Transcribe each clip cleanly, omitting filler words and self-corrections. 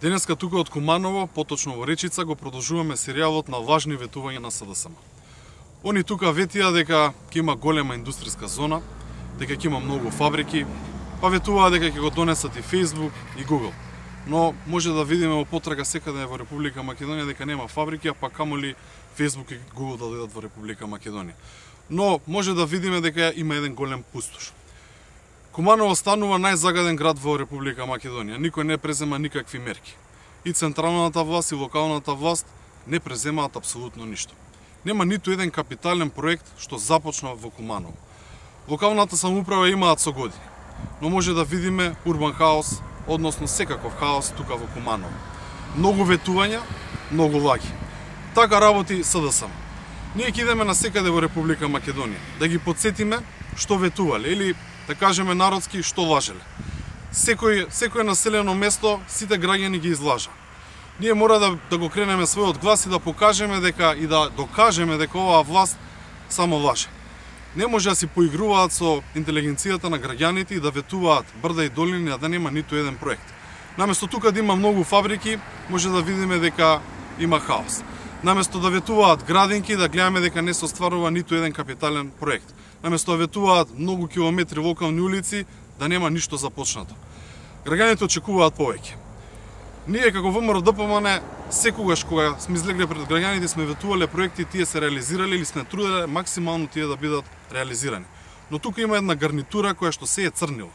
Денеска тука од Куманово, поточно во Речица, го продолжуваме серијалот на лажни ветувања на СДСМ. Они тука ветија дека ќе има голема индустријска зона, дека ќе има многу фабрики, па ветуваа дека ќе го донесат и Facebook и Google. Но може да видиме во потрага секаде во Република Македонија дека нема фабрики, а па камоли Facebook и Google да дојдат во Република Македонија. Но може да видиме дека има еден голем пустош. Куманово станува најзагаден град во Република Македонија. Никој не презема никакви мерки. И централната власт и локалната власт не преземаат апсолутно ништо. Нема ниту еден капитален проект што започна во Куманово. Локалната самоуправа имаат со години, но може да видиме урбан хаос, односно секаков хаос тука во Куманово. Многу ветувања, многу лаги. Така работи СДСМ. Ние ќе идеме на секаде во Република Македонија да ги потсетиме што ветувале или да кажеме народски што лажеле. Секој населено место сите граѓани ги излажа. Ние мора да го кренеме својот глас и да покажеме дека и да докажеме дека оваа власт само лаже. Не може да си поигруваат со интелигенцијата на граѓаните и да ветуваат брда и долини, а да нема ниту еден проект. Наместо тука да има многу фабрики, може да видиме дека има хаос. Наместо да ветуваат градинки, да гледаме дека не се остварува ниту еден капитален проект. Наместо да ветуваат многу километри локални улици, да нема ништо започнато. Граѓаните очекуваат повеќе. Ние како ВМРО-ДПМН секогаш кога сме излегле пред граѓаните сме ветувале проекти, тие се реализирале или сме труделе максимално тие да бидат реализирани. Но тука има една гарнитура која што се е црнила.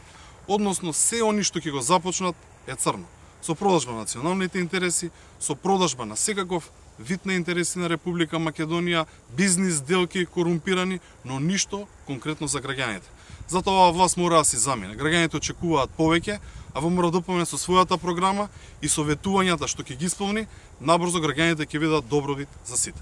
Односно се они што ќе го започнат е црно. Со продажба на националните интереси, со продажба на секаков вид на интереси на Република Македонија, бизнис делки корумпирани, но ништо конкретно за граѓаните. Затоа оваа власт мора да си замине. Граѓаните очекуваат повеќе, а ВМРО-ДПМН со својата програма и со ветувањата што ќе ги исполни, набрзо граѓаните ќе видат добровит за сите.